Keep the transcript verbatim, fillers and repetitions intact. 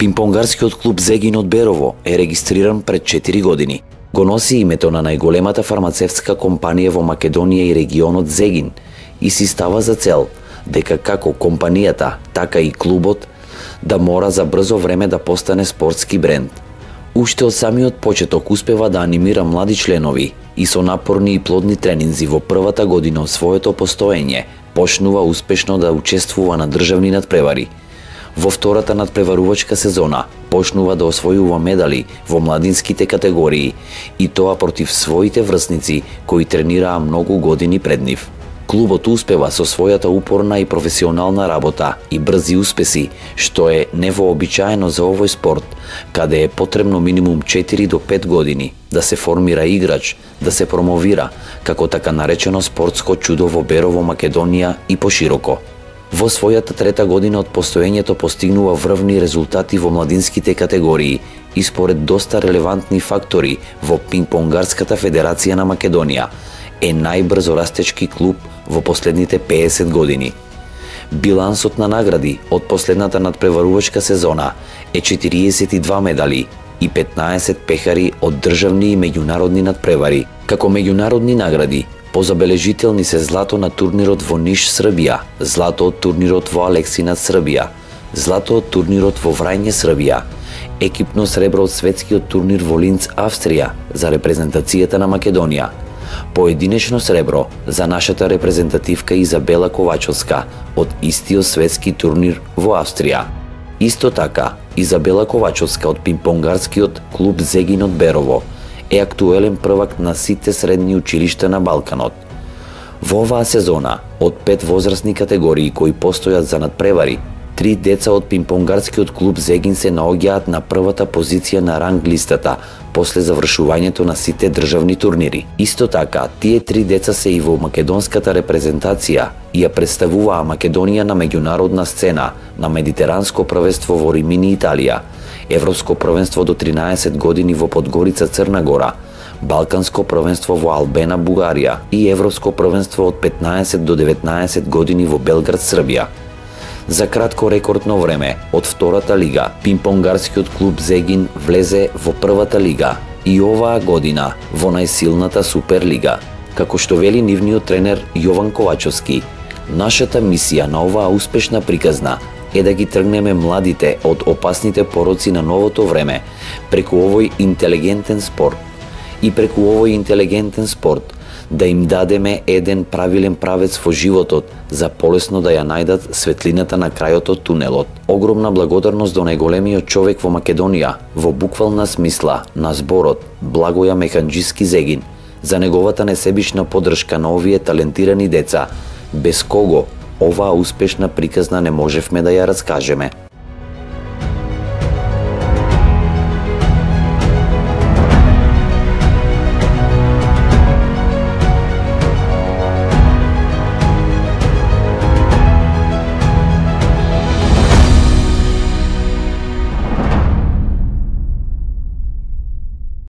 Пинпонгарскиот клуб Зегин од Берово е регистриран пред четири години. Го носи името на најголемата фармацевтска компанија во Македонија и регионот Зегин и си става за цел дека како компанијата, така и клубот да мора за брзо време да постане спортски бренд. Уште од самиот почеток успева да анимира млади членови и со напорни и плодни тренинзи во првата година од своето постоење почнува успешно да учествува на државни надпревари. Во втората надпреварувачка сезона почнува да освојува медали во младинските категории и тоа против своите врсници кои тренираа многу години пред нив. Клубот успева со својата упорна и професионална работа и брзи успеси, што е невообичаено за овој спорт, каде е потребно минимум четири до пет години да се формира играч, да се промовира како така наречено спортско чудо во Берово, Македонија и пошироко. Во својата трета година од постоењето постигнува врвни резултати во младинските категории и според доста релевантни фактори во Пинпонгарската федерација на Македонија е најбрзо растечки клуб во последните песет години. Билансот на награди од последната надпреварувачка сезона е четириесет и два медали и петнаесет пехари од државни и меѓународни надпревари. Како меѓународни награди позабележителни се злато на турнирот во Ниш, Србија, злато од турнирот во Алексинат, Србија, злато од турнирот во Врање, Србија, екипно сребро од светскиот турнир во Линц, Австрија за репрезентацијата на Македонија, поединечно сребро за нашата репрезентативка Изабела Ковачовска од истиот светски турнир во Австрија. Исто така, Изабела Ковачовска од Пинпонгарскиот клуб Зегин од Берово е актуелен првак на сите средни училишта на Балканот. Во оваа сезона, од пет возрастни категории кои постојат за надпревари, три деца од Пинпонгарскиот клуб Зегин се наоѓаат на првата позиција на ранг листата после завршувањето на сите државни турнири. Исто така, тие три деца се и во македонската репрезентација и ја представуваа Македонија на меѓународна сцена на Медитеранско првенство во Римини, Италија, Европско првенство до тринаесет години во Подгорица, Црна Гора, Балканско првенство во Албена, Бугарија и Европско првенство од петнаесет до деветнаесет години во Белград, Србија. За кратко рекордно време од втората лига, Пинпонгарскиот клуб Зегин влезе во првата лига и оваа година во најсилната Суперлига. Како што вели нивниот тренер Јован Ковачовски, нашата мисија на оваа успешна приказна е да ги тргнеме младите од опасните пороци на новото време преку овој интелигентен спорт и преку овој интелигентен спорт да им дадеме еден правилен правец во животот за полесно да ја најдат светлината на крајот од тунелот. Огромна благодарност до најголемиот човек во Македонија, во буквална смисла на зборот, Благоја Механџиски Зегин, за неговата несебична поддршка на овие талентирани деца, без кого оваа успешна приказна не можевме да ја раскажеме.